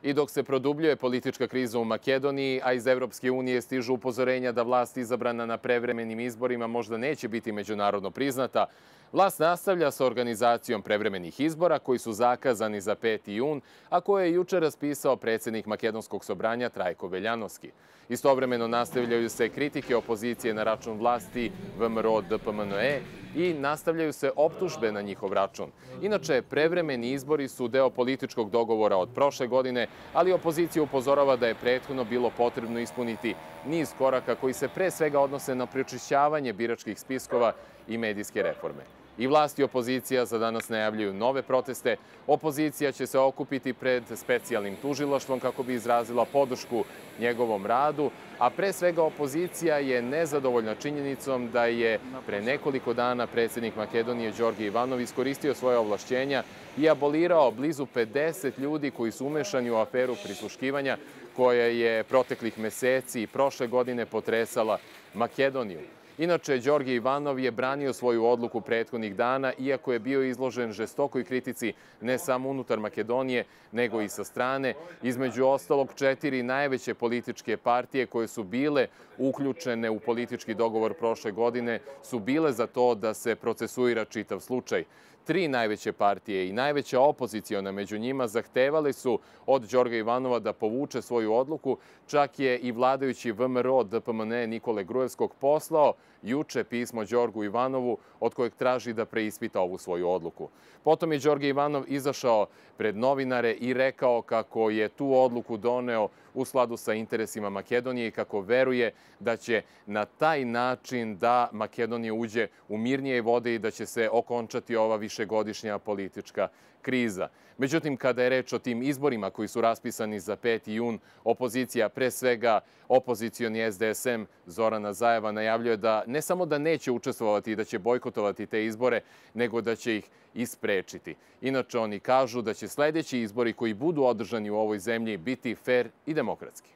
I dok se produbljuje politička kriza u Makedoniji, a iz Evropske unije stižu upozorenja da vlast izabrana na prevremenim izborima možda neće biti međunarodno priznata, vlast nastavlja sa organizacijom prevremenih izbora koji su zakazani za 5. jun, a koje je juče raspisao predsjednik Makedonskog sobranja Trajko Veljanovski. Istovremeno nastavljaju se kritike opozicije na račun vlasti VMRO-DPMNE i nastavljaju se optužbe na njihov račun. Inače, prevremeni izbori su deo političkog dogovora od prošle godine, ali opozicija upozorava da je prethodno bilo potrebno ispuniti niz koraka koji se pre svega odnose na prečišćavanje biračkih spiskova i medijske reforme. I vlast i opozicija za danas najavljuju nove proteste. Opozicija će se okupiti pred specijalnim tužilaštvom kako bi izrazila podršku njegovom radu, a pre svega opozicija je nezadovoljna činjenicom da je pre nekoliko dana predsjednik Makedonije Đorđe Ivanov iskoristio svoje ovlašćenja i abolirao blizu 50 ljudi koji su umešani u aferu prisluškivanja koja je proteklih meseci i prošle godine potresala Makedoniju. Inače, Đorđe Ivanov je branio svoju odluku prethodnih dana, iako je bio izložen žestokoj kritici ne samo unutar Makedonije, nego i sa strane. Između ostalog, 4 najveće političke partije koje su bile uključene u politički dogovor prošle godine su bile za to da se procesuira čitav slučaj. 3 najveće partije i najveća opoziciona među njima zahtevali su od Đorđa Ivanova da povuče svoju odluku. Čak je i vladajući VMRO-DPMNE Nikole Grujevskog poslao juče pismo Đorđu Ivanovu od kojeg traži da preispita ovu svoju odluku. Potom je Đorđe Ivanov izašao pred novinare i rekao kako je tu odluku doneo u skladu sa interesima Makedonije i kako veruje da će na taj način da Makedonija uđe u mirnije vode i da će se okončati ova višegodišnja politička kriza. Međutim, kada je reč o tim izborima koji su raspisani za 5. jun, opozicija, pre svega opozicioni SDSM Zorana Zajeva, najavljuje da ne samo da neće učestvovati i da će bojkotovati te izbore, nego da će ih isprečiti. Inače, oni kažu da će sljedeći izbori koji budu održani u ovoj zemlji biti fer i demokratski.